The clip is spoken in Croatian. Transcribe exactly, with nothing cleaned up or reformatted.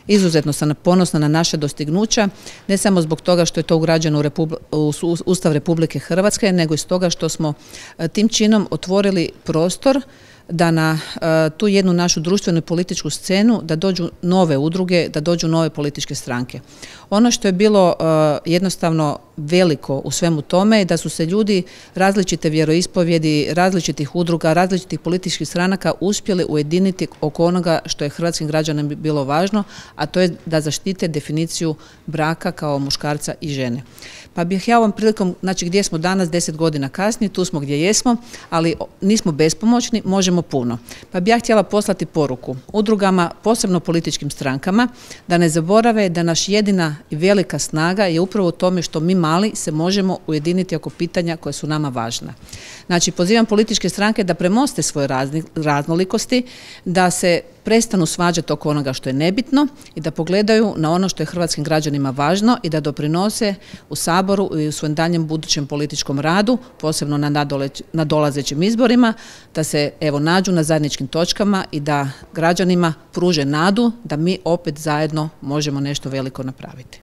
Izuzetno sam ponosna na naše dostignuća, ne samo zbog toga što je to ugrađeno u Ustav Republike Hrvatske, nego i stoga što smo tim činom otvorili prostor da na tu jednu našu društvenu i političku scenu da dođu nove udruge, da dođu nove političke stranke. Ono što je bilo jednostavno veliko u svemu tome je da su se ljudi različite vjeroispovjedi, različitih udruga, različitih političkih stranaka uspjeli ujediniti oko onoga što je hrvatskim građanima bilo važno, a to je da zaštite definiciju braka kao muškarca i žene. Pa bih ja ovom prilikom, znači gdje smo danas, deset godina kasnije, tu smo gdje jesmo, ali nismo bespomoćni, možemo puno. Pa bih ja htjela poslati poruku udrugama, posebno političkim strankama, da ne zaborave da naš jedina i velika snaga je upravo u tome što mi mali se možemo ujediniti oko pitanja koja su nama važna. Znači, pozivam političke stranke da premoste svoje raznolikosti, da se prestanu svađati oko onoga što je nebitno i da pogledaju na ono što je hrvatskim građanima važno i da doprinose u Saboru i u svojem daljem budućem političkom radu, posebno na nadolazećim izborima, da se evo nađu na zajedničkim točkama i da građanima pruže nadu da mi opet zajedno možemo nešto veliko napraviti.